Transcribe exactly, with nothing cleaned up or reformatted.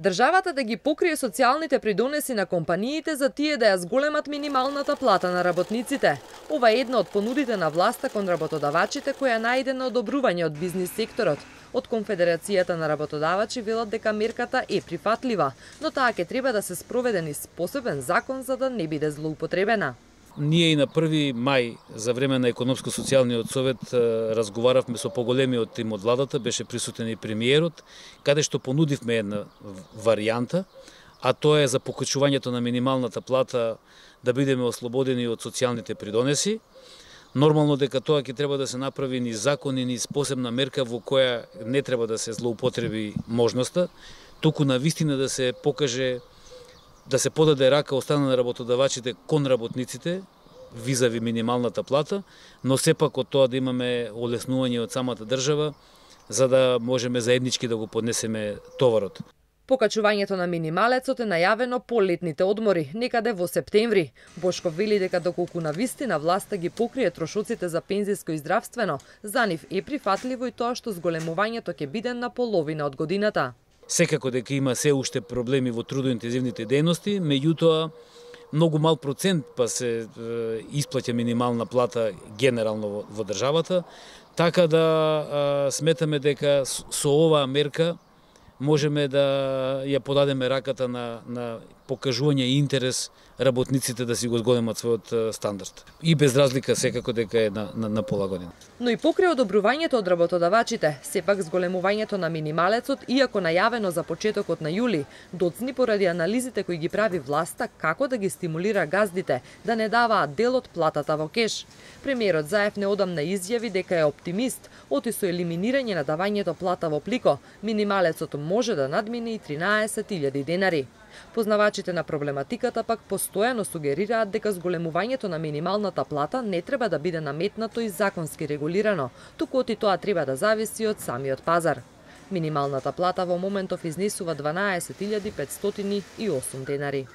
Државата да ги покрие социјалните придонеси на компаниите за тие да ја зголемат минималната плата на работниците. Ова е една од понудите на власта кон работодавачите која најде на одобрување од бизнис секторот. Од Конфедерацијата на работодавачи велат дека мерката е прифатлива, но таа ќе треба да се спроведе низ посебен закон за да не биде злоупотребена. Ние и на први мај за време на економско-социјалниот совет разговаравме со поголемиот тим од владата, беше присутен и премиерот, каде што понудивме една варијанта, а тоа е за покачувањето на минималната плата да бидеме ослободени од социјалните придонеси. Нормално дека тоа ќе треба да се направи низ закон и низ посебна мерка во која не треба да се злоупотреби можноста, туку навистина да се покаже да се подаде рака од страна на работодавачите кон работниците визави минималната плата, но сепак од тоа да имаме олеснување од самата држава за да можеме заеднички да го поднесеме товарот. Покачувањето на минималецот е најавено по летните одмори, некаде во септември. Бошков вели дека доколку навистина власта ги покрие трошоците за пензиско и здравствено, за нив е прифатливо и тоа што зголемувањето ќе биде на половина од годината. Секако дека има се уште проблеми во трудоинтензивните дејности, меѓутоа многу мал процент па се е, исплаќа минимална плата генерално во, во државата, така да е, сметаме дека со оваа мерка можеме да ја подадеме раката на, на покажување и интерес работниците да си го зголемат својот стандард. И без разлика секако дека е на, на, на пола година. Но и покрај одобрувањето од работодавачите, сепак зголемувањето на минималецот, иако најавено за почетокот на јули, доцни поради анализите кои ги прави власта како да ги стимулира газдите да не даваат дел од платата во кеш. Премиерот Заев неодамна изјави дека е оптимист, оти со елиминирање на давањето плата во плико, минималецот може да надмине и тринаесет илјади денари. Познавачите на проблематиката пак постојано сугерираат дека зголемувањето на минималната плата не треба да биде наметнато и законски регулирано, туку оти тоа треба да зависи од самиот пазар. Минималната плата во моментов изнесува дванаесет илјади петстотини и осум денари.